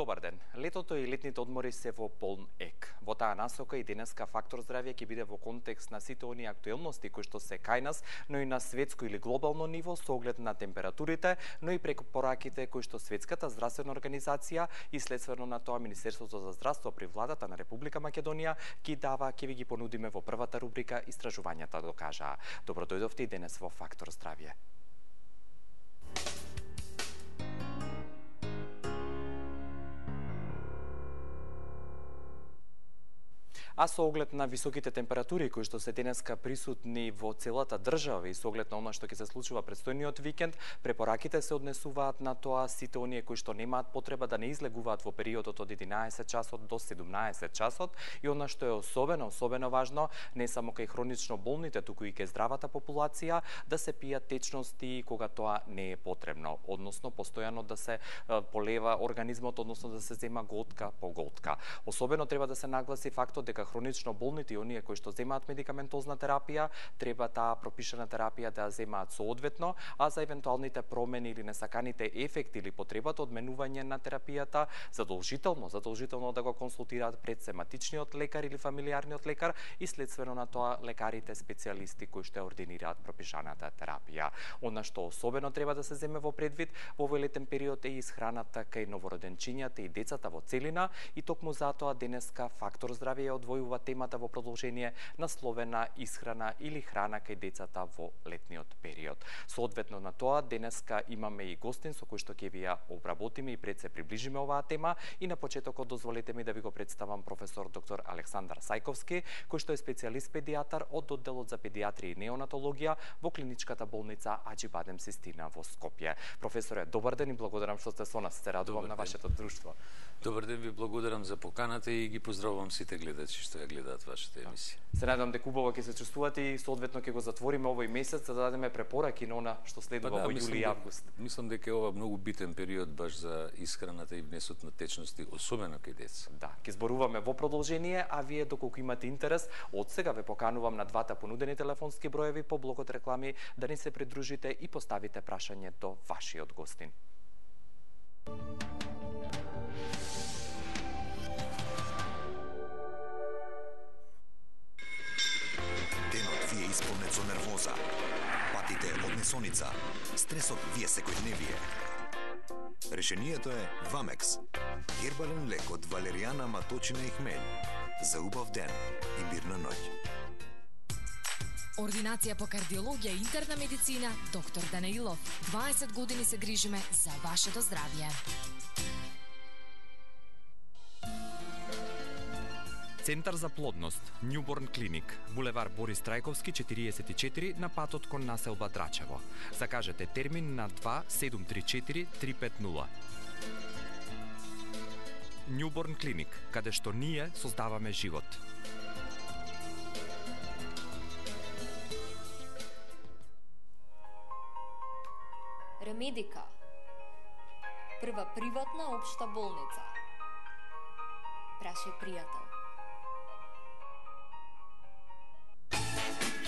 Добар ден. Летото и летните одмори се во полн ек. Во таа насока и денеска Фактор здравје ќе биде во контекст на сите оние актуелности кои што се кај нас, но и на светско или глобално ниво со оглед на температурите, но и препораките кои што Светската здравствена организација и следствено на тоа Министерството за здравство при владата на Република Македонија ги дава, ќе ви ги понудиме во првата рубрика Истражувањата докажаа. Добро дојдовте и денес во Фактор здравје. А со оглед на високите температури кои што се денеска присутни во целата држава и со оглед на она што ќе се случува предстојниот викенд, препораките се однесуваат на тоа сите оние кои што немаат потреба да не излегуваат во периодот од 11 часот до 17 часот и она што е особено важно, не само кај хронично болните, туку и кај здравата популација, да се пијат течности кога тоа не е потребно, односно постојано да се полева организмот, односно да се зема голтка по голтка. Особено треба да се нагласи фактот дека хронично болните и оние кои што земаат медикаментозна терапија, треба таа пропишана терапија да ја земаат соодветно, а за евентуалните промени или несаканите ефекти или потребата од менување на терапијата, задолжително да го консултираат пред сематичниот лекар или фамилиарниот лекар и следствено на тоа лекарите специјалисти кои што ја ординираат пропишаната терапија. Она што особено треба да се земе во предвид во овој летен период е исхраната кај новороденчињата и децата во целина и токму затоа денеска Фактор здравје одвојува темата во продолжение насловена исхрана или храна кај децата во летниот период. Соодветно на тоа, денеска имаме и гостин со кој што ќе ви ја обработиме и пред се приближиме оваа тема и на почетокот дозволете ми да ви го представам професор доктор Александар Сајковски, кој што е специјалист педијатар од одделот за педијатрија и неонатологија во клиничката болница Аџибадем Систина во Скопје. Професоре, добар ден и благодарам што сте со нас. Се радувам на вашето друштво. Добар ден, ви благодарам за поканата и ги поздравувам сите гледачи што ја гледаат вашата емисија. Се надевам дека убаво ќе се чувствувате и соодветно ќе го затвориме овој месец за да дадеме препораки на она што следува во јули и август. Мислам дека е ова многу битен период баш за исхраната и внесот на течности, особено кај деца. Да, ќе зборуваме во продолжение, а вие доколку имате интерес, од сега ве поканувам на двата понудени телефонски броеви по блокот реклами да ни се придружите и поставите прашање до вашиот гостин. Исполнет со нервоза, патите од несоница, стресот вие секојдневие. Решението е Вамекс, гербален лек од валеријана, маточина и хмелј. За убав ден и мирна ноќ. Ординација по кардиологија и интерна медицина, доктор Данаилов. 20 години се грижиме за вашето здравје. Центар за плодност, Newborn Clinic, булевар Борис Трајковски 44 на патот кон населба Драчево. Закажете термин на 2734 350. Newborn Clinic, каде што ние создаваме живот. Ремедика, прва приватна општа болница. Прашај пријател.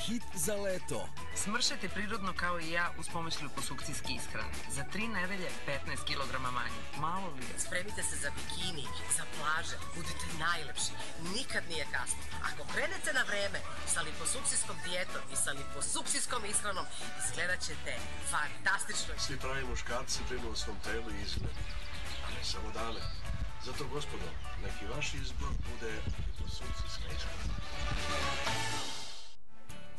Хит за лето. Смршете природно као и ја уз помош липосукцијски исхрани. За 3 неделje 15 килограма мање. Мало ли е? Спремите се за бикини, за плаже, будете најлепши. Никад не е касно. Ако кренете на време sa липосукцијском диетом и sa липосукцијском исхраном, изгледачете фантастично. Сви прави мушкарци брину о свом телу и изгледу, а не само даме. Зато, господо, неки ваш избор буде липосукцијска исхрана.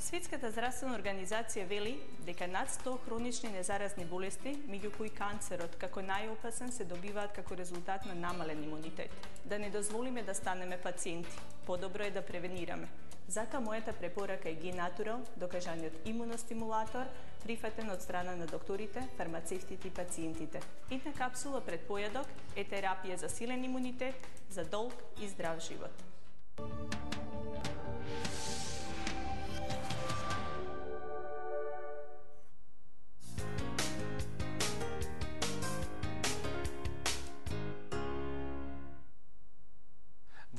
Светската здравствена организација вели дека над 100 хронични незаразни болести, меѓу кои канцерот како најопасен, се добиваат како резултат на намален имунитет. Да не дозволиме да станеме пациенти. Подобро е да превенираме. Затоа мојата препорака е Генатурал, докажаниот имуностимулатор, прифатен од страна на докторите, фармацевтите и пациентите. Една капсула пред појадок е терапија за силен имунитет, за долг и здрав живот.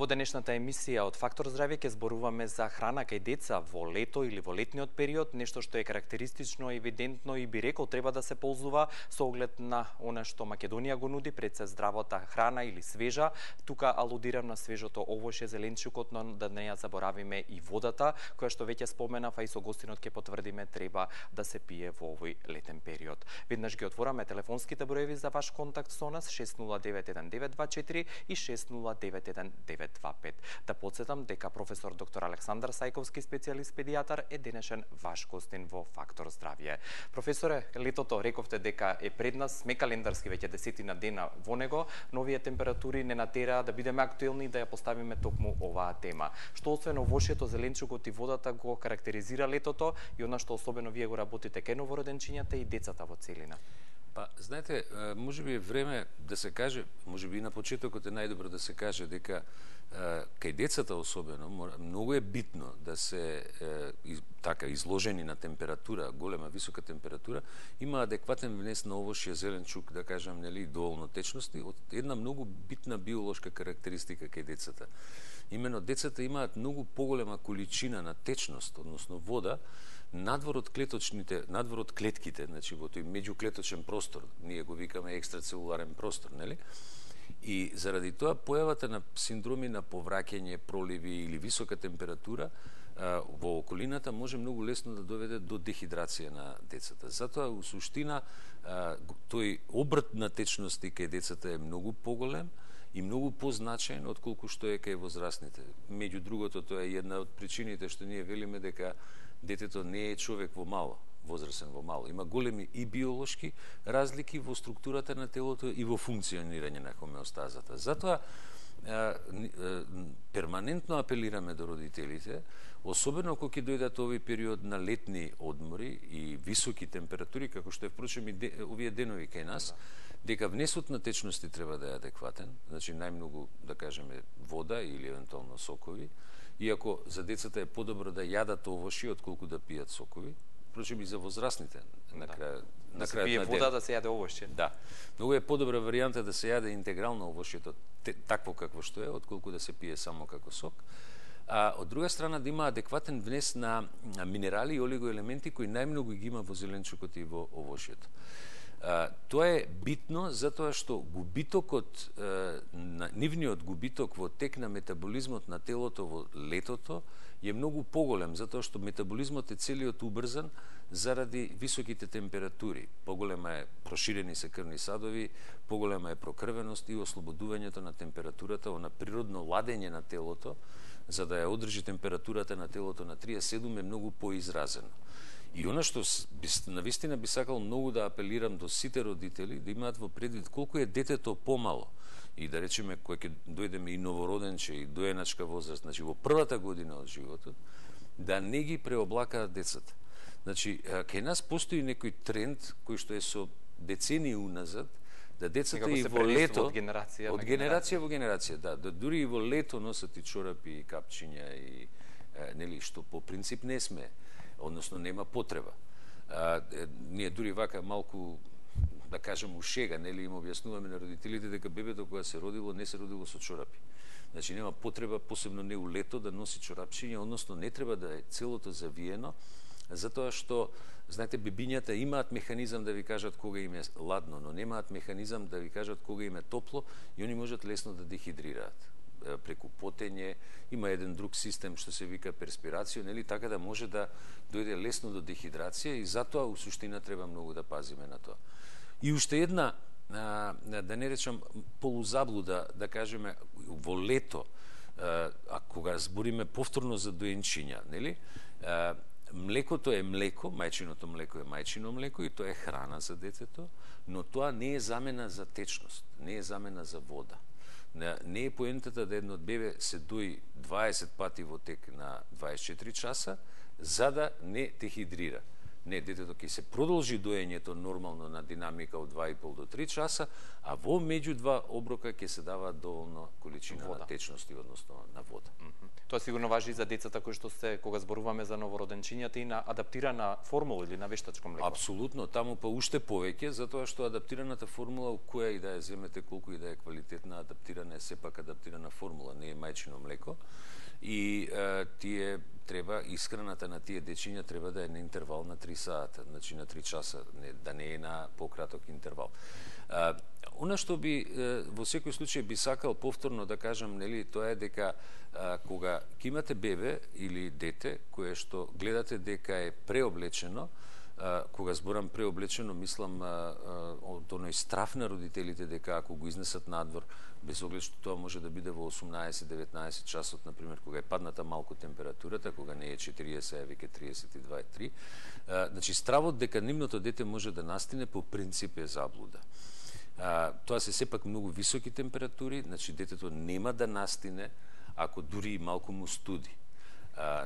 Во денешната емисија од Фактор здравје ќе зборуваме за храна кај деца во лето или во летниот период, нешто што е карактеристично, евидентно и би рекол треба да се ползува со оглед на она што Македонија го нуди, пред се здравата храна или свежа. Тука алудирам на свежото овошје, зеленчукот, но да не ја заборавиме и водата, која што веќе споменав, а и со гостинот ќе потврдиме, треба да се пие во овој летен период. Веднаш ги отвораме телефонските броеви за ваш контакт со нас 6091-924 и 6091-925. Да подсетам дека професор доктор Александар Сајковски, специјалист педијатар, е денешен ваш гостин во Фактор здравје. Професоре, летото рековте дека е пред нас, сме календарски веќе 10 дена во него, но овие температури не натера да бидеме актуелни и да ја поставиме токму оваа тема. Што освен овошјето, зеленчукот и водата го карактеризира летото и она што особено вие го работите кај новороденчињата и децата во целина? Па, знаете, можеби е време да се каже, можеби и на почетокот е најдобро да се каже дека кај децата особено многу е битно да се така изложени на температура, голема висока температура, има адекватен внес на овошје, зеленчук, да кажам, нели, доволно течности, од една многу битна биолошка карактеристика кај децата. Имено децата имаат многу поголема количина на течност, односно вода, надвор од клетките, значи во тој меѓуклеточен простор, ние го викаме екстрацелуларен простор, нели? И заради тоа појавата на синдроми на повраќање, проливи или висока температура во околината може многу лесно да доведе до дехидрација на децата. Затоа, у суштина, тој обрт на течности кај децата е многу поголем и многу позначаен отколку што е кај возрастните. Меѓу другото, тоа е една од причините што ние велиме дека детето не е човек во мало, возрасен во мало. Има големи и биолошки разлики во структурата на телото и во функционирање на хомеостазата. Затоа перманентно апелираме до родителите, особено кога ќе дојдат овој период на летни одмори и високи температури, како што е впрочем и овие денови кај нас, дека внесот на течности треба да е адекватен, значи најмногу, да кажеме, вода или евентуално сокови, иако за децата е подобро да јадат овошје отколку да пијат сокови, впрочем и за возрастните на крај да се пие вода, да се јаде овошје. Да. Многу е подобра варијанта да се јаде интегрално овошјето такво какво што е, отколку да се пие само како сок. А од друга страна да има адекватен внес на минерали и олигоелементи кои најмногу ги има во зеленчукот и во овошјето. Тоа е битно затоа што губитокот, нивниот губиток во тек на метаболизмот на телото во летото е многу поголем, затоа што метаболизмот е целиот убрзан заради високите температури. Поголема е, проширени се крвни садови, поголема е прокрвеност и ослободувањето на температурата, на природно ладење на телото, за да ја одржи температурата на телото на 37 е многу поизразено. И она што навистина би сакал многу да апелирам до сите родители, да имаат во предвид колку е детето помало. И да речеме, кој ќе дојдеме и новороденче, и доеначка возраст, значи во првата година од животот, да не ги преоблакаат децата. Значи, кај нас постои некој тренд, кој што е со децении уназад, да децата и во лето, од генерација во генерација, да дури и во лето носат и чорапи, и капчиња, и нели, што по принцип не сме, односно нема потреба. Ние дури вака малку, да кажем, ушега, нели, им објаснуваме на родителите дека бебето кога се родило, не се родило со чорапи. Значи нема потреба, посебно не у лето, да носи чорапчиња, односно не треба да е целото завиено, затоа што, знаете, бебињата имаат механизам да ви кажат кога им е ладно, но немаат механизам да ви кажат кога им е топло и они можат лесно да дехидрираат преку потење, има еден друг систем што се вика перспирација, нели, така да може да дојде лесно до дехидрација и затоа у суштина треба многу да пазиме на тоа. И уште една, да не речам полузаблуда, да кажеме, во лето, а кога збориме повторно за доенчиња, нели, млекото е млеко, мајчиното млеко е мајчино млеко и тоа е храна за детето, но тоа не е замена за течност, не е замена за вода. Не е поентата да едно бебе се дои 20 пати во тек на 24 часа, за да не дехидрира. Не, детето ќе се продолжи доењето нормално на динамика од 2,5 до 3 часа, а во меѓу два оброка ќе се дава доволно количина на течности, односно на вода. Тоа сигурно важи и за децата кои што се, кога зборуваме за новороденчињата, и на адаптирана формула или на вештачко млеко. Апсолутно, таму па уште повеќе, затоа што адаптираната формула, која и да ја земете, колку и да е квалитетна, адаптирана е сепак адаптирана формула, не е мајчино млеко. И тие треба, исхраната на тие дечиња треба да е на интервал на 3 сата, значи на 3 часа, да не е на пократок интервал. Она што би во секој случај би сакал повторно да кажам, нели, тоа е дека кога ќе имате бебе или дете кое што гледате дека е преоблечено, кога зборам преоблечено, мислам од оној страф на родителите дека ако го изнесат надвор, без оглед што тоа може да биде во 18-19 часот, например, кога е падната малку температурата, кога не е 40, а веќе 32-3, значи стравот дека нивното дете може да настине по принцип е заблуда. Тоа се сепак многу високи температури, значи детето нема да настине ако дури и малку му студи.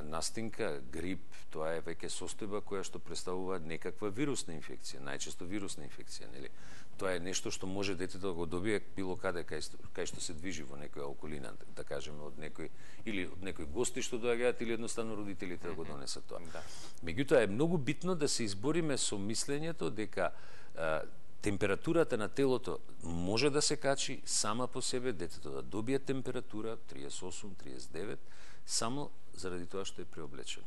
Настинка, грип, тоа е веќе состојба која што представува некаква вирусна инфекција, најчесто вирусна инфекција, нели? Тоа е нешто што може детето да го добие било каде кај што се движи во некоја околина, да кажеме од некој или од некој гости што доаѓаат или едноставно родителите да го донесат тоа. Меѓутоа е многу битно да се избориме со мислењето дека температурата на телото може да се качи сама по себе, детето да добие температура 38-39 само заради тоа што е преоблечено.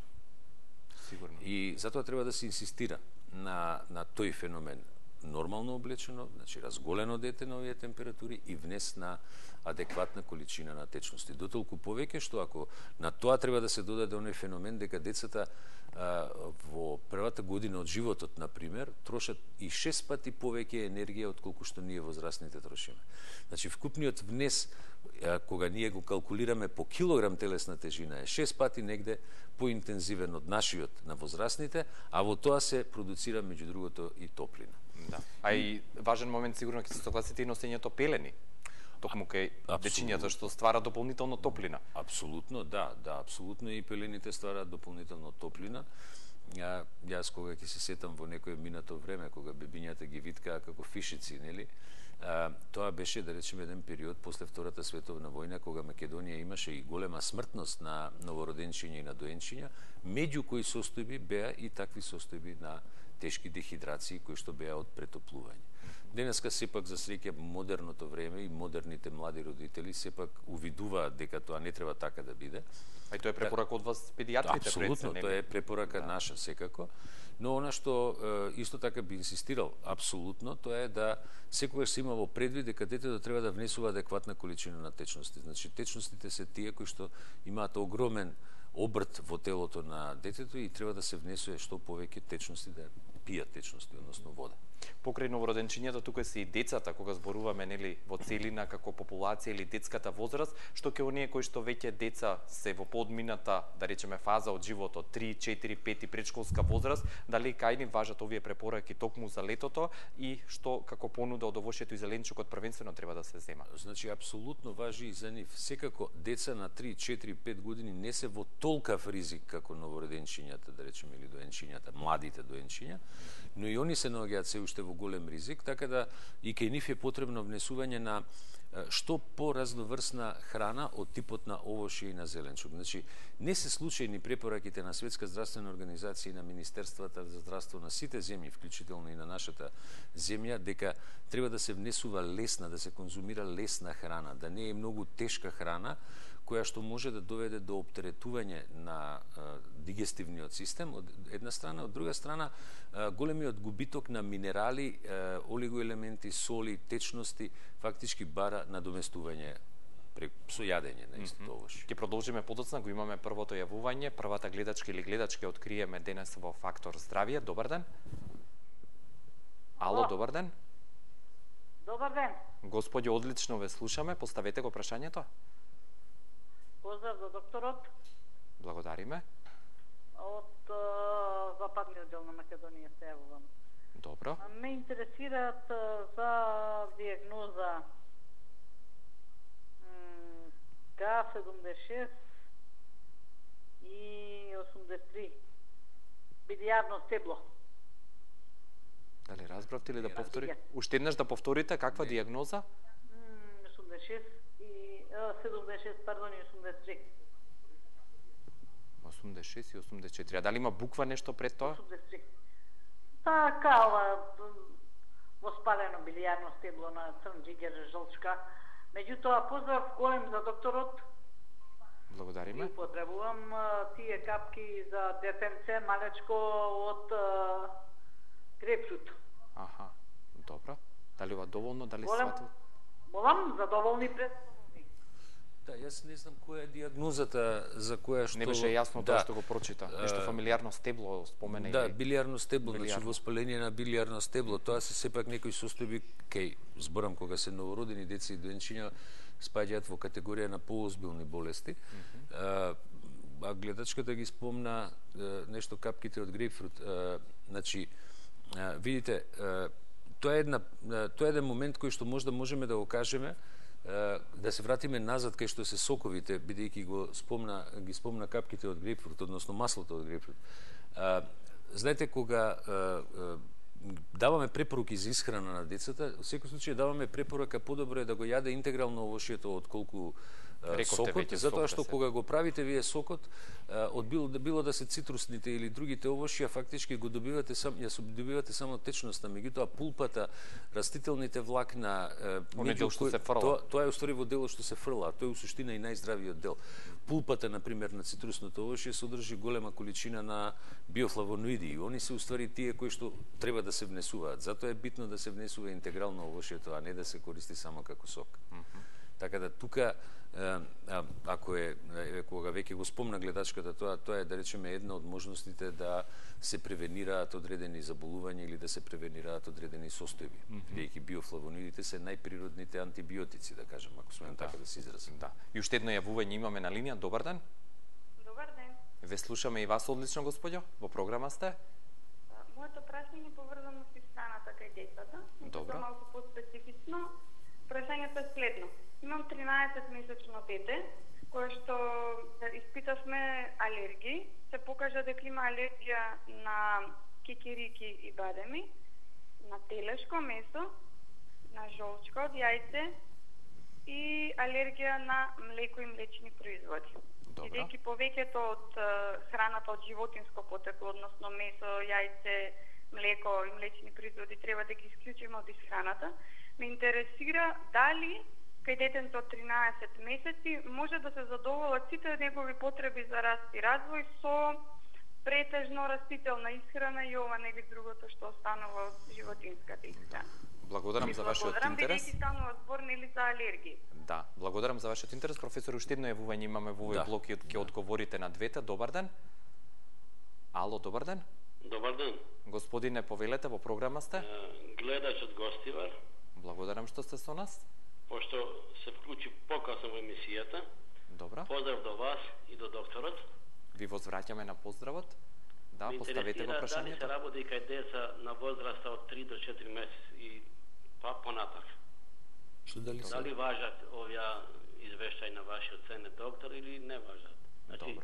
Сигурно. И затоа треба да се инсистира на тој феномен. Нормално облечено, значи разголено дете на овие температури и внес на адекватна количина на течности. Дотолку повеќе што ако на тоа треба да се додаде оној феномен дека децата во првата година од животот, например, трошат и 6 пати повеќе енергија од колку што ние возрастните трошиме. Значи вкупниот внес, кога ние го калкулираме по килограм телесна тежина, е 6 пати негде поинтензивен од нашиот на возрастните, а во тоа се продуцира меѓу другото и топлина. Да. А и важен момент сигурно ќе се согласите и носењето пелени. Токму кај дечињата што ствара дополнително топлина. Апсолутно, да, апсолутно и пелените ствараат дополнително топлина. Јас кога ќе се сетам во некое минато време, кога бебињата ги виткаа како фишици, нели? Тоа беше, да речеме, еден период после Втората световна војна, кога Македонија имаше и голема смртност на новороденчиња и на доенчиња, меѓу кои состојби беа и такви состојби на тешки дехидрации кои што беа од претоплување. Денеска сепак за среќа модерното време и модерните млади родители сепак увидуваат дека тоа не треба така да биде. А и тоа е препорака од вас педијатрите? Апсолутно, тоа е препорака наша секако. Но она што исто така би инсистирал апсолутно, тоа е да секогаш се има во предвид дека детето треба да внесува адекватна количина на течности. Значи течностите се тие кои што имаат огромен обрт во телото на детето и треба да се внесува што повеќе течности, да пијат течности, односно вода. Покрај новороденчињата тука се и децата, кога зборуваме, нели, во целина како популација или детската возраст, што ќе оние кои што веќе деца се во подмината, да речеме, фаза од животот, 3, 4, 5 предшколска возраст, дали кај ни важат овие препораки токму за летото и што како понуда од овошјето и зеленчукот првенствено треба да се зема? Значи апсолутно важи и за нив. Секако деца на 3, 4, 5 години не се во толкав ризик како новороденчињата, да речеме, или доенчињата, младите доенчиња, но и они се наоѓаат се уште во голем ризик, така да и кај нив е потребно внесување на што поразноврсна храна од типот на овошје и на зеленчук. Значи, не се случајни препораките на Светска здравствена организација и на Министерствата за здравство на сите земји, вклучително и на нашата земја, дека треба да се внесува лесна, да се конзумира лесна храна, да не е многу тешка храна, која што може да доведе до оптеретување на дигестивниот систем, од една страна, од друга страна, големиот губиток на минерали, олигоелементи, соли, течности, фактички бара надоместување со јадење на истото овошје. Ќе продолжиме подоцна, го имаме првото јавување, првата гледачка или гледачка откриеме денес во Фактор здравје. Добар ден. Ало, добар ден. Добар ден. Господјо, одлично ве слушаме, поставете го прашањето. Поздрав за докторот. Благодариме. Од западниот дел на Македонија се јавувам. Добро. Ме интересираат за диагноза К76 и 83. Билијарно стебло. Дали разбравте или да повтори? Уште еднаш да повторите каква диагноза? 86 и 76, пардон, и 83. 86 и 84. А дали има буква нешто пред тоа? 83. Така, воспалено билијарно стебло на црн џигер жолчка. Меѓутоа, поздрав голем за докторот. Благодариме. И употребувам тие капки за детенце малечко од грепфрут. Аха, добро. Дали ова доволно, дали сватува? Молам, задоволни представни. Да, јас не знам која е диагнозата за која што... Не беше јасно тоа што го прочита. Нешто фамилиарно стебло спомена. Да, билијарно стебло, значи воспаление на билијарно стебло. Тоа се сепак некои состојби, кај зборам кога се новородени деца и доенчиња спаѓаат во категорија на поозбилни болести. А гледачката ги спомна нешто капките од грейпфрут. Значи, видите, тоа е еден момент кој што можеме да го кажеме, да се вратиме назад кај што се соковите, бидејќи ги спомна капките од грейпфрут, односно маслото од грейпфрут. Знаете, кога даваме препоруки за исхрана на децата, во секој случај даваме препорака подобро е да го јаде интегрално овошјето отколку сокот, затоа што кога го правите вие сокот, од било да се цитрусните или другите овошја, фактички го добивате само течноста, меѓутоа пулпата, растителните влакна, тоа е уствари во делот што се фрла, тоа е у суштина и најздравиот дел. Пулпата, например, на цитрусното овошје содржи голема количина на биофлавоноиди и они се уствари тие кои што треба да се внесуваат. Затоа е битно да се внесува интегрално овошјето, а не да се користи само како сок. Така да тука, ако кога веќе го спомна гледачката, тоа е, да речеме, една од можностите да се превенираат одредени заболувања или да се превенираат одредени состојби. Бидејќи биофлавоноидите се најприродните антибиотици, да кажем, ако смеам така да се изразам. Да. И уште едно јавување имаме на линија. Добар ден. Добар ден. Ве слушаме и вас одлично, господјо. Во програма сте. Моето прашање е поврзано со исхраната кај децата. Добро. Малку поспецифично. Прашањето е следно. Имам 13-месечно дете, кое што испитавме алергии. Се покажа дека има алергија на кикирики и бадеми, на телешко месо, на жолчка од јајце и алергија на млеко и млечни производи. Бидејќи повеќето од храната од животинско потекло, односно месо, јајце, млеко и млечни производи треба да ги исклучиме од исхраната, ме интересира дали кај детенце од 13 месеци може да се задоволат сите негови потреби за раст и развој со претежно растителна исхрана и ова нели другото што останува од животинската исхрана. Благодарам за вашиот интерес. Бидејќи станува збор нели за алергии. Да, благодарам за вашиот интерес. Професор, уште едно јавување имаме во овој блок и ќе одговорите на двете. Добар ден. Ало, добар ден. Добар ден. Господине, повелете, во програма сте. Гледач од Гостивар. Благодарам што сте со нас. Пошто се вклучи покасно во емисијата. Добро. Поздрав до вас и до докторот. Ви возвраќаме на поздравот. Да, поставете го прашањето. Дали се работи кај деца на возраста од 3 до 4 месеци и понатак? Дали важат овие извештај на вашиот ценет доктор или не важат? Значи,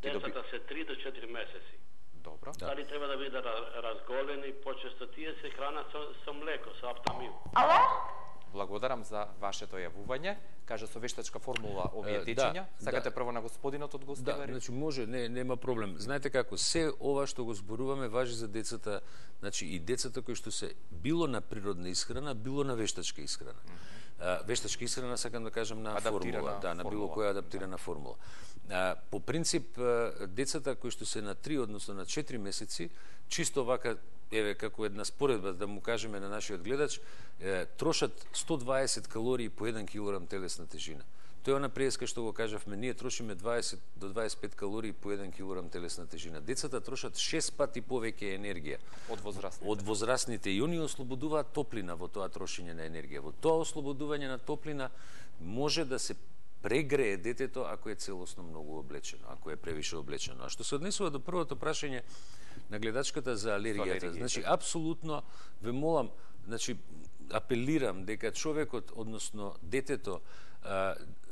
децата се 3 до 4 месеци. Добро. Дали треба да бидат разголени, почесто тие се храна со млеко, со аптамил. Ало? Благодарам за вашето јавување. Кажа со вештачка формула овие течења. Сакате прво на господинот од Гостивар? Да, значи може, нема проблем. Знаете како, се ова што го зборуваме важи за децата, значи и децата кои што се било на природна исхрана, било на вештачка исхрана. Вештачка исхрана, сакам да кажам, на формула, на било која адаптирана формула. По принцип, децата кои што се на 3, односно на 4 месеци, чисто вака, еве, како една споредба, да му кажеме на нашиот гледач, трошат 120 калории по 1 килограм телесна тежина. Тоа е она преска што го кажавме, ние трошиме 20 до 25 калории по 1 килограм телесна тежина. Децата трошат 6 пати повеќе енергија од возрастните и они ослободуваат топлина во тоа трошење на енергија. Во тоа ослободување на топлина може да се прегрее детето ако е целосно многу облечено, ако е превише облечено. А што се однесува до првото прашање на гледачката за алергијата, значи апсолутно ве молам, значи апелирам дека човекот, односно детето,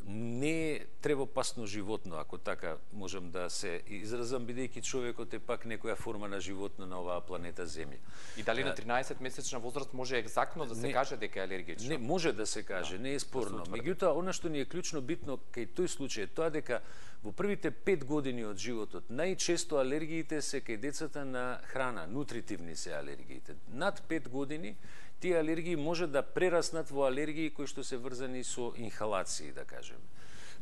не е тревопасно животно, ако така можам да се изразам, бидејќи човекот е пак некоја форма на животно на оваа планета Земја. И дали на 13-месечна возраст може екзактно да се каже дека е алергичен? Не, може да се каже, не е спорно. Меѓутоа, она што ни е клучно битно кај тој случај е тоа дека во првите 5 години од животот најчесто алергиите се кај децата на храна, нутритивни се алергиите. Над 5 години тие алергии може да прераснат во алергии кои што се врзани со инхалации, да кажем.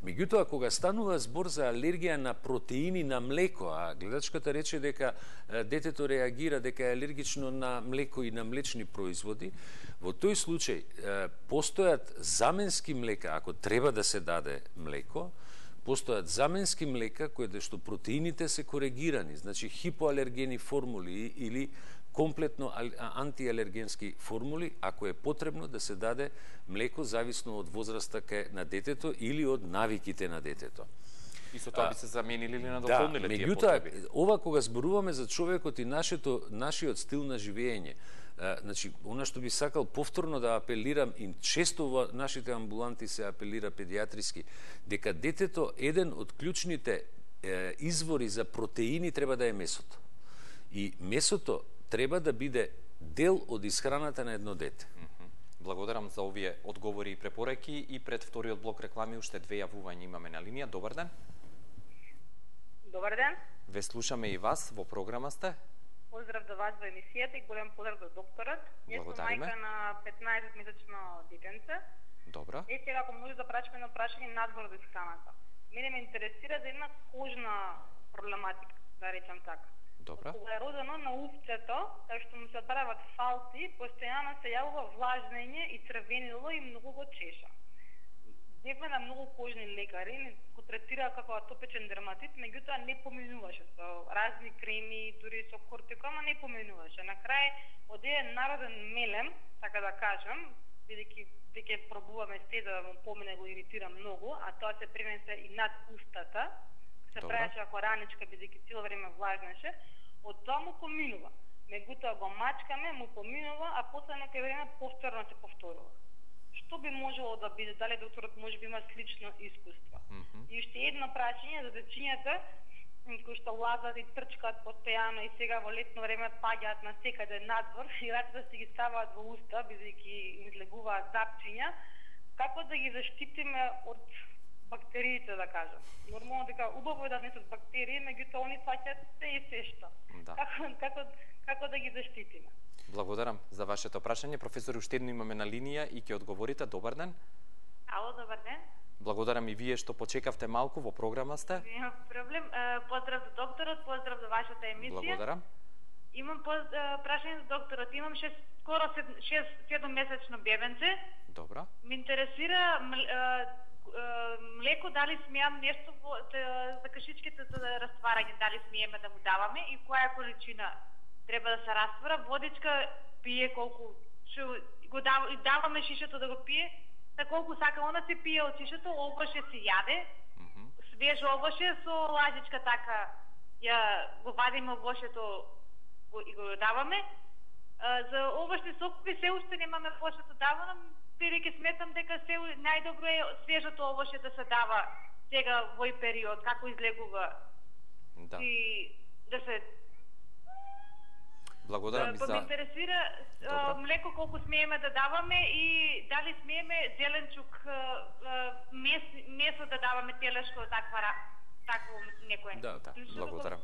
Меѓутоа, кога станува збор за алергија на протеини на млеко, а гледачката рече дека детето реагира дека е алергично на млеко и на млечни производи, во тој случај постојат заменски млека, ако треба да се даде млеко, постојат заменски млека кои што протеините се коригирани, значи хипоалергени формули или комплетно антиалергенски формули, ако е потребно да се даде млеко зависно од возраста на детето или од навиките на детето. И со тоа би се заменили или надополниле тие потреби? Меѓутоа, ова кога зборуваме за човекот и нашиот стил на живење, значи, она што би сакал повторно да апелирам, и често во нашите амбуланти се апелира педиатриски, дека детето, еден од клучните извори за протеини треба да е месото. И месото треба да биде дел од исхраната на едно дете. Благодарам за овие одговори и препораки, и пред вториот блок реклами уште 2 јавувања имаме на линија. Добар ден. Добар ден. Ве слушаме и вас, во програма сте. Поздрав до вас во емисијата и голем поздрав до докторот. Јас сум мајка на 15-месечно детенце. Добра. И сега, ако може да прашаме едно прашање надвор од исхраната. Мене ме интересира за една кожна проблематика, да речам така. Добра. Кога е родено на увцето, така што му се отправат фалци, постојано се јавува влажнење и црвенило и многу го чеша. Дефме на многу кожни лекари, го третира како атопичен дерматит, меѓутоа не поминуваше со разни креми, дури со кортико, ама не поминуваше. На крај од еден народен мелем, така да кажам, бидејќи веќе пробуваме се да му помине, го иритира многу, а тоа се пренесе и над устата, се правеше ако раничка, бидејќи цело време влажнеше, од тоа му поминува. Меѓутоа го мачкаме, му поминува, а после некој време повторно се повторува. Што би можело да биде? Дали докторот може би има слично искуство? И уште едно прашање за дечињата кои што лазат и трчкаат постојано и сега во летно време паѓаат на секаде надвор и рацете си ги ставаат во уста, бидејќи им излегуваат запчиња. Како да ги заштитиме од бактериите, да кажам? Нормално дека убаво е да несат бактерии, меѓутоа они фаќаат се и се што. Да. Како да ги заштитиме? Благодарам за вашето прашање. Професор, уште едно имаме на линија и ќе одговорите. Добар ден. Ало, добар ден. Благодарам и вие што почекавте малку, во програма сте. Нема проблем. Поздрав до докторот, поздрав за вашата емисија. Благодарам. Имам прашање за докторот. Имам скоро 7-месечно бебенце. Добра. Ме интересира млеко, дали смеам нешто за кашичките за растварање, дали смееме да му даваме и која количина треба да се раствара. Водичка пие колку го даваме шишето да го пие, та колку сака она се пие од шишето, овоше се јаде, свеж овоше со лажичка така ја го вадиме овошето и го даваме. За овошни сокови се уште немаме овошето давано, бидејќи сметам дека се најдобро е свежото овоше да се дава сега во овој период, како излегува. Да. И да се Благодарам за... Ме интересира млеко колку смееме да даваме и дали смееме зеленчук, месо да даваме телешко, такво некој. Да, благодарам.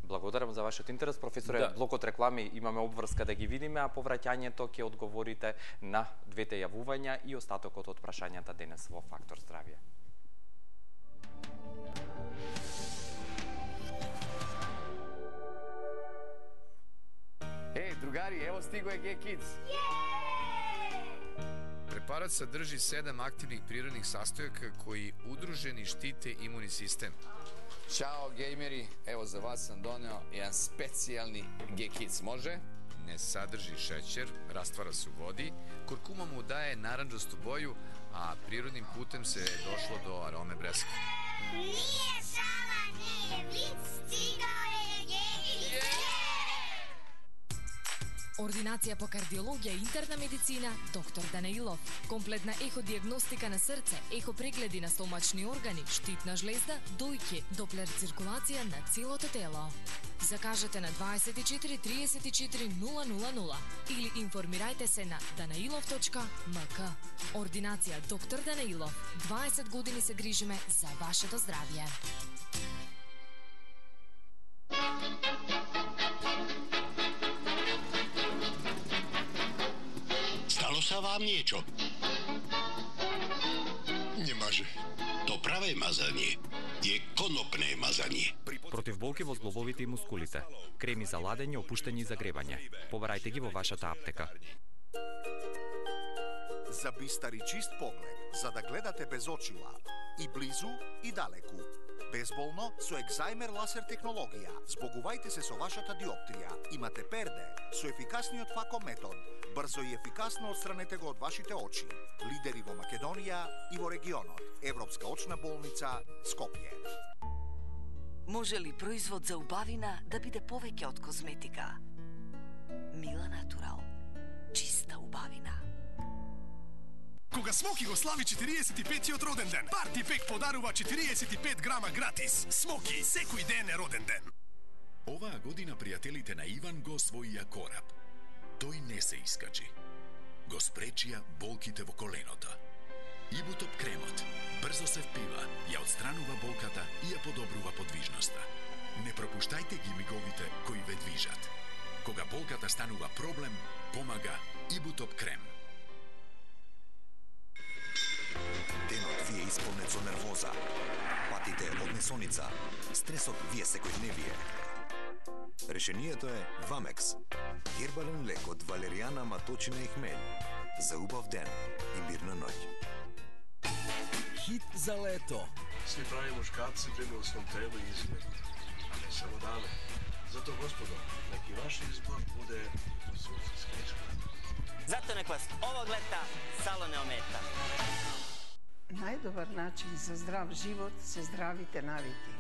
Благодарам за вашиот интерес. Професоре, блокот реклами имаме обврска да ги видиме, а по враќањето ќе одговорите на двете јавувања и остатокот од прашањата денес во Фактор здравје. Другари, ево стиго е G-Kids. Препарат садржи 7 активних природних састојака кои удружени штите имуни систем. Чао, геймери, ево за вас сам донео еден специјални G-Kids, може? Не садржи шеќер, раствара се у води, куркума му дае наранџасту боју, а природним путем се дошло до ароме бреска. Nije šala, nije vic, stigao je G-Kids. Ординација по кардиологија и интерна медицина доктор Данаилов. Комплетна еходиагностика на срце, ехопрегледи на стомачни органи, штитна жлезда, дојки, доплер циркулација на целото тело. Закажете на 24 34 000 или информирајте се на danailov.mk. Ординација доктор Данаилов. 20 години се грижиме за вашето здравје. Stalo sa vám niečo? Nemaže. To pravé mazanie je konopné mazanie. Против болки во зглобовите и мускулите. Креми за ладење, опуштање и загревање. Побарајте ги во вашата аптека. За бистар и чист поглед, за да гледате без очила, и близу и далеку. Безболно со Екзајмер ласер технологија. Збогувајте се со вашата диоптрија. Имате перде со ефикасниот фако метод. Брзо и ефикасно отстранете го од вашите очи. Лидери во Македонија и во регионот. Европска очна болница Скопје. Може ли производ за убавина да биде повеќе од козметика? Мила Натурал. Чиста убавина. Кога Смоки го слави 45-тиот роден ден, Парти Пек подарува 45 грама гратис. Смоки, секој ден е роден ден. Оваа година пријателите на Иван го освоија кораб. Тој не се искачи. Го спречија болките во коленото. Ибутоп кремот брзо се впива, ја отстранува болката и ја подобрува подвижноста. Не пропуштајте ги миговите кои ве движат. Кога болката станува проблем, помага Ибутоп крем. Денот ви е исполнет со нервоза. Патите од несоница. Стресот ви е секојдневие. Решението е Вамекс. Гербален лек од валеријана, маточина и хмелј. За убав ден и мирна ноќ. Хит за лето. Сви прави мушкарци бреме у свом телу и изгледу, а не само даме. Зато, господо, неки ваш избор буде сусидска исхрана. Зато нек вас овог лета сало не омета. Најдобар начин за здрав живот се здравите навики.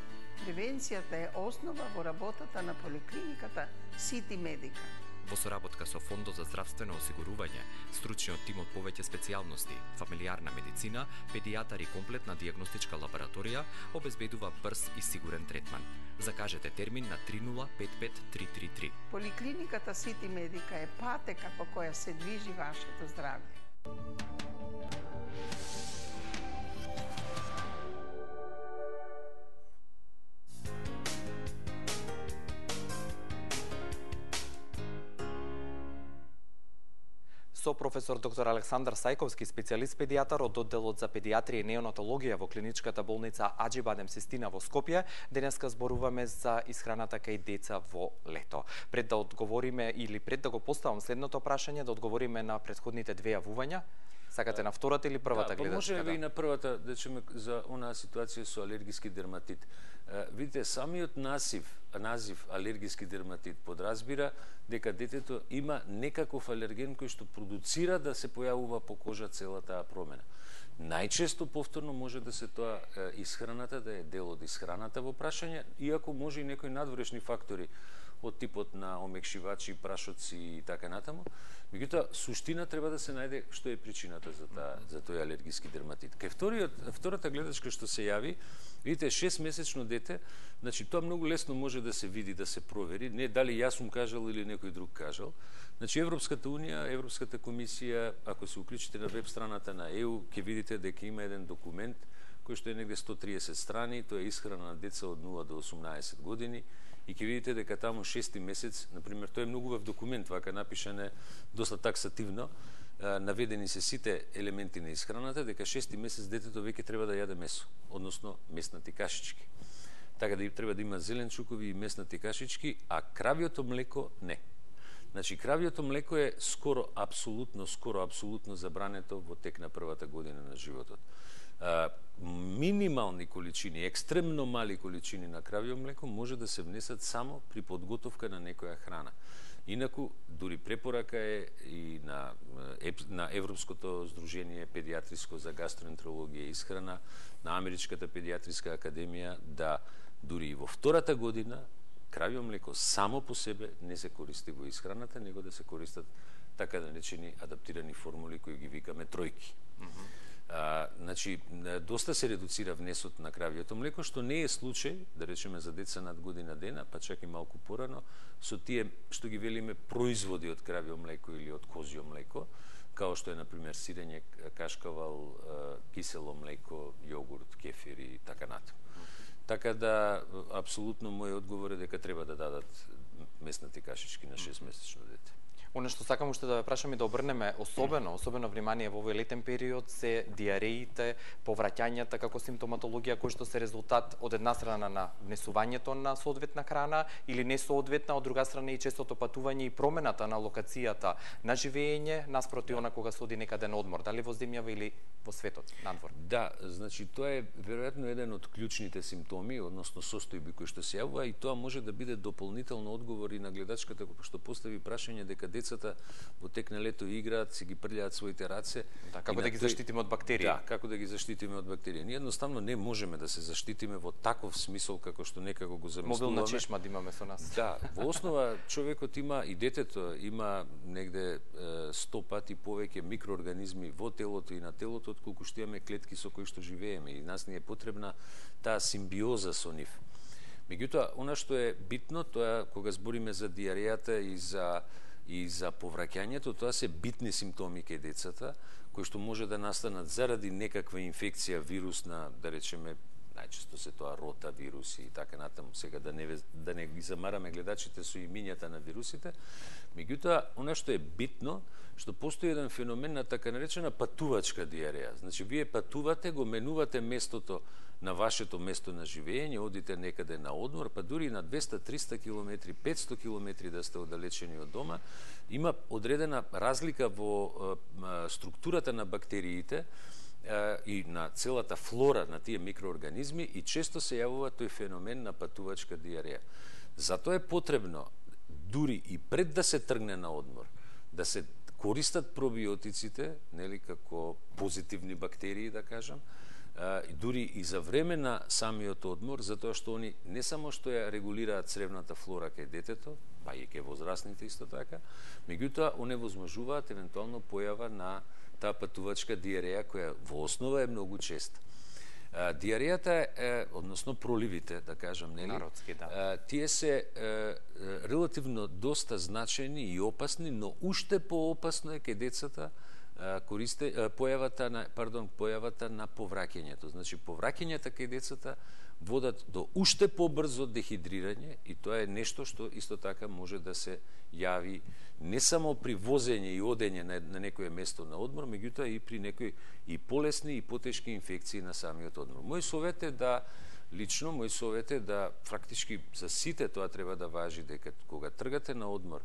Превенцијата е основа во работата на поликлиниката Сити Медика. Во соработка со Фондот за здравствено осигурување, стручниот тим од повеќе специјалности, фамилиарна медицина, педијатар и комплетна дијагностичка лабораторија обезбедува брз и сигурен третман. Закажете термин на 3055333. Поликлиниката Сити Медика е патека по која се движи вашето здравје. Со професор доктор Александар Сајковски, специјалист педијатар од одделот за педијатрија и неонатологија во клиничката болница Аџибадем Систина во Скопје, денеска зборуваме за исхраната кај деца во лето. Пред да одговориме или пред да го поставам следното прашање, да одговориме на претходните две јавувања. Сакате на втората или првата гледачка? Може би и на првата, да чуме за онаа ситуација со алергиски дерматит. Видите, самиот назив алергиски дерматит подразбира дека детето има некаков алерген кој што продуцира да се појавува по кожа цела таа промена. Најчесто повторно може да се тоа исхраната, да е дел од исхраната во прашање, иако може и некои надворешни фактори од типот на омекшивачи, прашоци и така натаму. Меѓутоа, суштина треба да се најде што е причината за тој алергиски дерматит. Кај втората гледачка што се јави, видите, 6-месечно дете, значи тоа многу лесно може да се види, да се провери, не дали јас сум кажал или некој друг кажал. Значи Европската унија, Европската комисија, ако се уклучите на веб страната на ЕУ, ќе видите дека има еден документ кој што е негде 130 страни, тоа е исхрана на деца од 0 до 18 години, и ќе видите дека таму 6-ти месец, например, тоа е многу в документ, вака напишане доста таксативно, наведени се сите елементи на исхраната, дека 6-ти месец детето веќе треба да јаде месо, односно меснати кашички. Така да треба да има зеленчукови и меснати кашички, а кравјото млеко не. Значи, кравјото млеко е скоро апсолутно забрането во тек на првата година на животот. Минимални количини, екстремно мали количини на кравјо млеко може да се внесат само при подготовка на некоја храна. Инаку, дури препорака е и на Европското здружение педијатриско за гастроентерологија и исхрана, на Америчката педијатриска академија, да дури и во втората година кравјо млеко само по себе не се користи во исхраната, него да се користат така наречени адаптирани формули кои ги викаме тројки. Значи, доста се редуцира внесот на кравјето млеко, што не е случај, да речеме, за деца над година дена, па чак и малку порано, со тие, што ги велиме, производи од кравјо млеко или од козјо млеко, као што е, например, сирење, кашкавал, кисело млеко, јогурт, кефир и така натаму. Така да, апсолутно, мојот одговор е дека треба да дадат меснати кашички на 6-месечно дете. Оно што сакам уште да ве прашам и да обрнеме особено внимание во овој летен период се диареите, повраќањата како симптоматологија кои што се резултат од една страна на внесувањето на соодветна храна или несоодветна, од друга страна и честото патување и промената на локацијата на живење наспроти она кога се оди некаде на одмор, дали во земјава или во светот, надвор. Да, значи тоа е веројатно еден од клучните симптоми, односно состојби кои што се јавува, и тоа може да биде дополнително одговор и на гледачката што постави прашање дека децата во тек на лето играат, си ги прљаат своите раце. Да, како да ги заштитиме од бактерии? Да, како да ги заштитиме од бактерии. Ние едноставно не можеме да се заштитиме во таков смисол како што некако го замислуваме. Мобилна чешма да имаме со нас. Да, во основа човекот има и детето има негде 100 пати повеќе микроорганизми во телото и на телото отколку што имаме клетки со кои што живееме, и нас ни е потребна таа симбиоза со нив. Меѓутоа, она што е битно, тоа кога збориме за диарејата и за повраќањето, тоа се битни симптоми кај децата, кои што може да настанат заради некаква инфекција вирусна, да речеме, најчесто се тоа рота вируси и така натаму, сега да не ги замараме гледачите со имињата на вирусите. Меѓутоа, она што е битно, што постои еден феномен на така наречена патувачка диареја. Значи, вие патувате, го менувате местото на вашето место на живење, одите некаде на одмор, па дури на 200-300 км, 500 км да сте оддалечени од дома, има одредена разлика во структурата на бактериите и на целата флора на тие микроорганизми, и често се јавува тој феномен на патувачка диареја. Затоа е потребно, дури и пред да се тргне на одмор, да се користат пробиотиците, нели, како позитивни бактерии, да кажам, дури и за време на самиот одмор, затоа што они не само што ја регулираат цревната флора кај детето, па и кај возрастните исто така, меѓутоа оневозможуваат евентуално појава на таа патувачка диареја, која во основа е многу честа. Диарејата е, односно проливите, да кажам, нели? Народски, да. Тие се релативно доста значени и опасни, но уште поопасно е кај децата појавата на повраќањето. Значи, повраќањата кај децата водат до уште побрзо дехидрирање, и тоа е нешто што исто така може да се јави не само при возење и одење на некое место на одмор, меѓутоа и при некои и полесни и потешки инфекции на самиот одмор. Мој совет е да фактички за сите тоа треба да важи, дека кога тргате на одмор,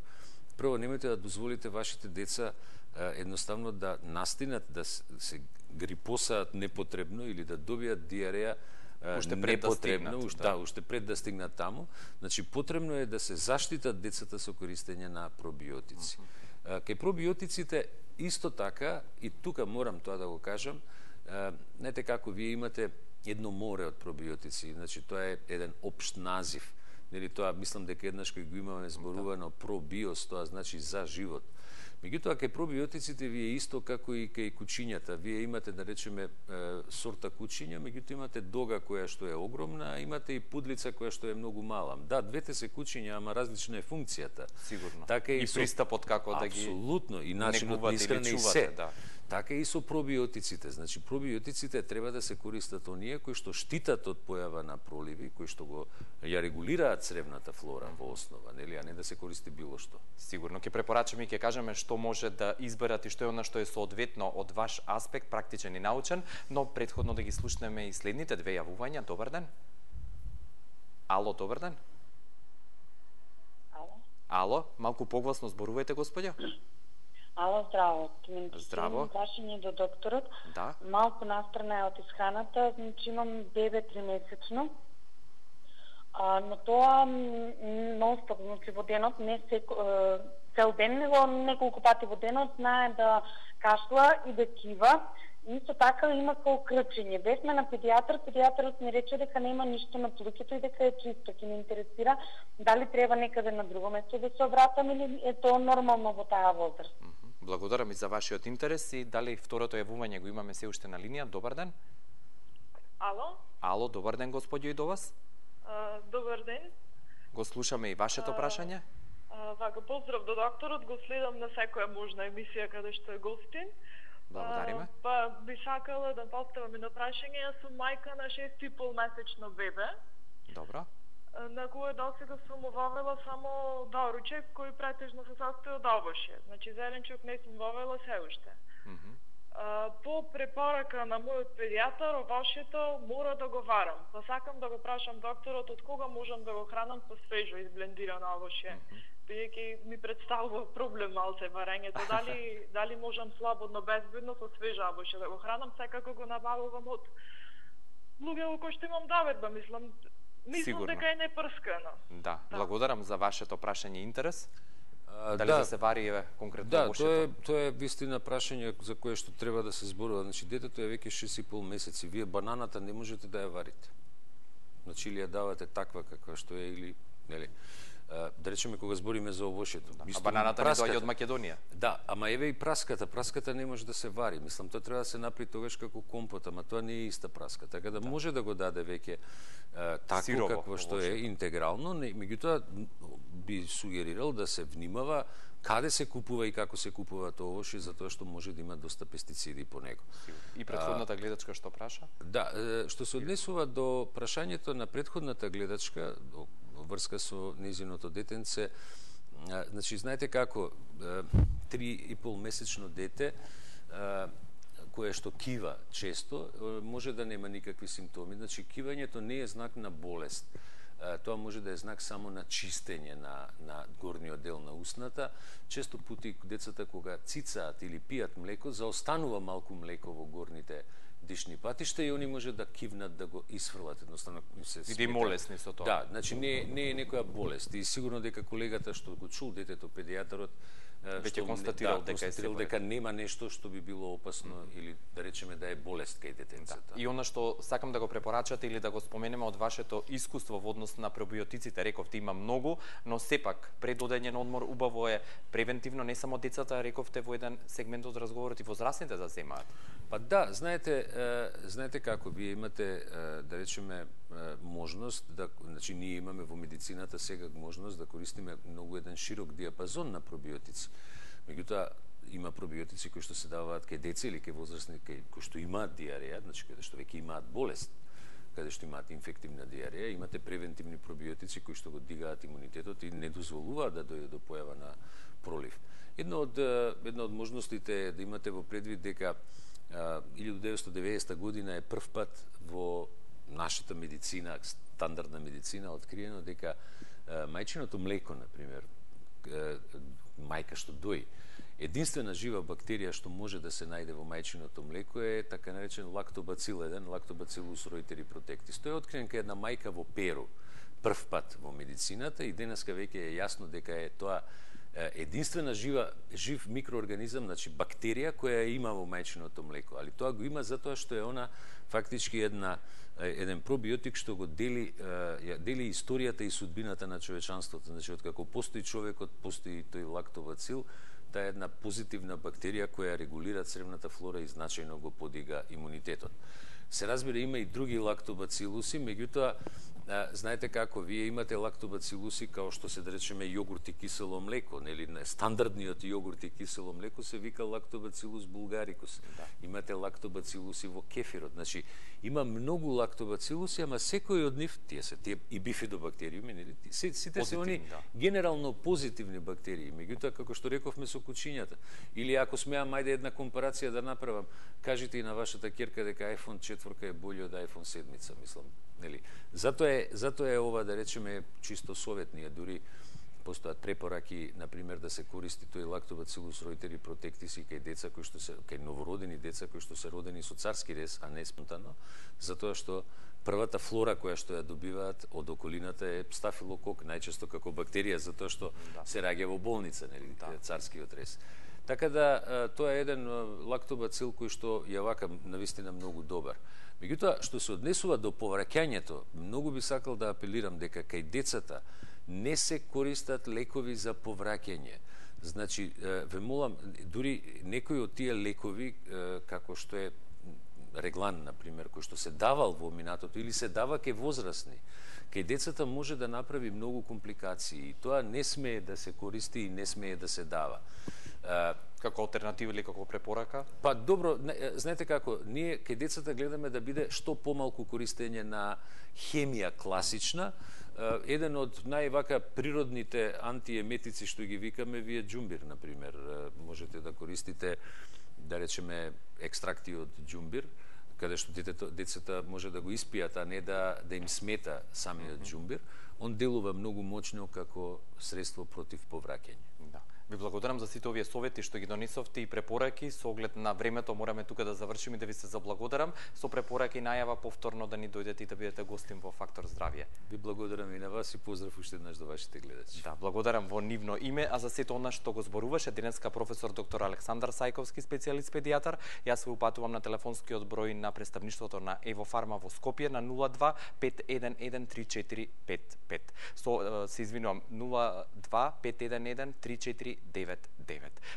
прво немојте да дозволите вашите деца едноставно да настинат, да се грипосаат непотребно или да добијат диареја непотребно, уште пред да стигнат таму. Значи, потребно е да се заштитат децата со користење на пробиотици. Кај пробиотиците, исто така, и тука морам тоа да го кажам, знаете како, вие имате едно море од пробиотици, значи тоа е еден општ назив. Нели, тоа мислам дека еднаш кој го имаме зборувано пробиос, тоа значи за живот. Меѓутоа, кај пробиотиците вие исто како и кај кучињата. Вие имате, да речеме, сорта кучиња, меѓутоа имате дога која што е огромна, а имате и пудлица која што е многу мала. Да, двете се кучиња, ама различна е функцијата. Сигурно. Така и пристапот како да ги апсолутно, и начинот на исхрана и се. Да. Така и со пробиотиците. Значи, пробиотиците треба да се користат оние кои што штитат од појава на проливи, кои што ја регулираат цревната флора во основа, нели, а не да се користи било што. Сигурно ќе препорачаме и ќе кажеме што може да изберат и што е она што е соодветно од ваш аспект, практичен и научен, но претходно да ги слушнеме и следните две јавувања. Добар ден. Ало, добар ден. Ало, малку погласно зборувајте, господја. Ало, здраво. Здраво. Прашање до докторот. Да. Малку настрана е од исхраната, значи имам бебе 3-месечно. Но тоа нон-стоп, значи во денот, не цел ден, него неколку пати во денот, знае да кашла и да кива Исто така има као крчење. Бевме на педијатар, педијатарот ни рече дека нема ништо на плуќето и дека е чисто. Ќе ни интересира дали треба некаде на друго место да се обратам или е тоа нормално во таа возраст. Благодарам и за вашиот интерес и дали второто јавување го имаме се уште на линија. Добар ден. Ало? Ало, добар ден, господјо, и до вас. Добар ден. Го слушаме и вашето прашање. Вака, поздрав до докторот, го следам на секоја можна емисија каде што е гостин. Благодариме. Па би сакала да поставам едно прашање. Јас сум мајка на 6,5 месечно бебе. Добро. На кое досега сум вовела само доручек кој претежно се состои од овошје. Значи зеленчук не сум вовела се уште. По препорака на мојот педијатар, овошјето мора да го варам. Па сакам да го прашам докторот од кога можам да го хранам по свежо изблендирано овошје. Бидејќи ми представува проблем малце варењето. Дали можам слободно, безбедно со свежо овошје да го хранам, секако го набавувам од луѓе кои што имам доверба, мислам дека е непрскано. Да, благодарам за вашето прашање и интерес. Дали да се вари конкретно овошјето? Да, тоа е вистина прашање за кое што треба да се зборува. Значи, детето е веќе 6,5 месеци. Вие бананата не можете да ја варите. Значи, или ја давате таква каква што е, или, нели, да речеме кога збориме за овошјето. А бананата не доаѓа од Македонија. Да, ама еве и праската. Праската не може да се вари. Мислам, тоа треба да се направи тогаш како компот, ама тоа не е иста праска. Така да може да го даде веќе такво какво што е интегрално, меѓутоа би сугерирал да се внимава каде се купува и како се купува тоа овошје, затоа што може да има доста пестициди по него. И претходната гледачка што праша? Да, што се однесува до прашањето на претходната гледачка, врска со незиното детенце, значи, знаете како, 3,5 месечно дете, кое што кива често, може да нема никакви симптоми. Значи, кивањето не е знак на болест. Тоа може да е знак само на чистење на горниот дел на устната. Често пати децата кога цицаат или пијат млеко, заостанува малку млеко во горните дишни патишта и они може да кивнат да го исфрлат, едноставно се смета. Молесни со тоа. Да, значи не е некоја болест. И сигурно дека колегата што го чул детето, педијатарот, веќе констатирал дека нема нешто што би било опасно или да речеме да е болест кај детенцата. И она што сакам да го препорачате или да го споменеме од вашето искуство во однос на пробиотиците, рековте има многу, но сепак пред одење на одмор убаво е превентивно не само децата, рековте во еден сегмент од разговорот и возрастните да земаат. Па да, знаете како, вие имате, да речеме, можност, значи ние имаме во медицината сега можност да користиме многу еден широк диапазон на пробиотици. Меѓутоа, има пробиотици кои што се даваат кај деца или кај возрастни кои што имаат диареја, значи каде што веќе имаат болест, каде што имаат инфективна диареја, имате превентивни пробиотици кои што го дигаат имунитетот и не дозволуваат да дојде до појава на пролив. Една од можностите е да имате во предвид дека 1990 година е прв пат во нашата медицина, стандардна медицина, откриено дека мајчиното млеко, например, мајка што дои, единствена жива бактерија што може да се најде во мајчиното млеко е така наречен лактобацил 1, лактобацилус реутери протектис. Тој е откриен кај една мајка во Перу, прв пат во медицината и денеска веќе е јасно дека е тоа единствена жив микроорганизам, значи бактерија која има во мајчиното млеко, али тоа го има затоа што е она фактички еден пробиотик што го дели историјата и судбината на човечанството. Значи откако постои човекот, постои тој лактобацил, таа е една позитивна бактерија која регулира цревната флора и значајно го подига имунитетот. Се разбира, има и други лактобацилуси, меѓутоа, знаете како, вие имате лактобацилуси као што се да речеме јогурт и кисело млеко, нели, стандардниот јогурт и кисело млеко се вика лактобацилус булгарикус. Да. Имате лактобацилуси во кефирот. Значи, има многу лактобацилуси, ама секој од нив, тие и бифидобактериуми, нели, сите се они генерално позитивни бактерии. Меѓутоа, како што рековме со кучињата, или ако смеам ајде една компарација да направам, кажите и на вашата ќерка дека iPhone 4 е бољи од iPhone 7, мислам. Нели? Затоа е ова, да речеме, чисто советнија, дури постојат препораки, например, да се користи тој лактобацилус реутери протектис и кај деца кои што се, кај новородени деца кои што се родени со царски рез, а не спонтано, затоа што првата флора која што ја добиваат од околината е стафилокок, најчесто како бактерија, затоа што се раѓа во болница, нели, царскиот рез. Така да тоа е еден лактобацил кој што е вака навистина многу добар. Меѓутоа, што се однесува до повраќањето, многу би сакал да апелирам дека кај децата не се користат лекови за повраќање. Значи, ве молам, дури некои од тие лекови, како што е Реглан, например, кој што се давал во минатото или се дава кај возрастни, кај децата може да направи многу компликации и тоа не смее да се користи и не смее да се дава. Како алтернатива или како препорака? Па добро, знаете како, ние кај децата гледаме да биде што помалку користење на хемија класична. Еден од највака природните антиеметици што ги викаме вие џумбир, например. Можете да користите, да речеме, екстракти од џумбир, каде што децата може да го испијат, а не да им смета самиот џумбир. Он делува многу моќно како средство против повраќање. Да. Ви благодарам за сите овие совети што ги донесовте и препораки. Со оглед на времето мораме тука да завршиме и да ви се заблагодарам. Со препораки најава повторно да ни дојдете и да бидете гостин во Фактор здравје. Ви благодарам и на вас и поздрав уште еднаш до вашите гледачи. Да, благодарам во нивно име, а за сето она што го зборуваше денеска професор доктор Александар Сајковски, специјалист педијатар. Јас се упатувам на телефонскиот број на представништвото на Евофарма во Скопје на 02 511 3455. Се извинувам, 02 511 3499.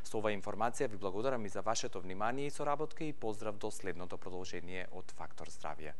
Со оваа информација ви благодарам и за вашето внимание и соработка и поздрав до следното продолжение од Фактор здравје.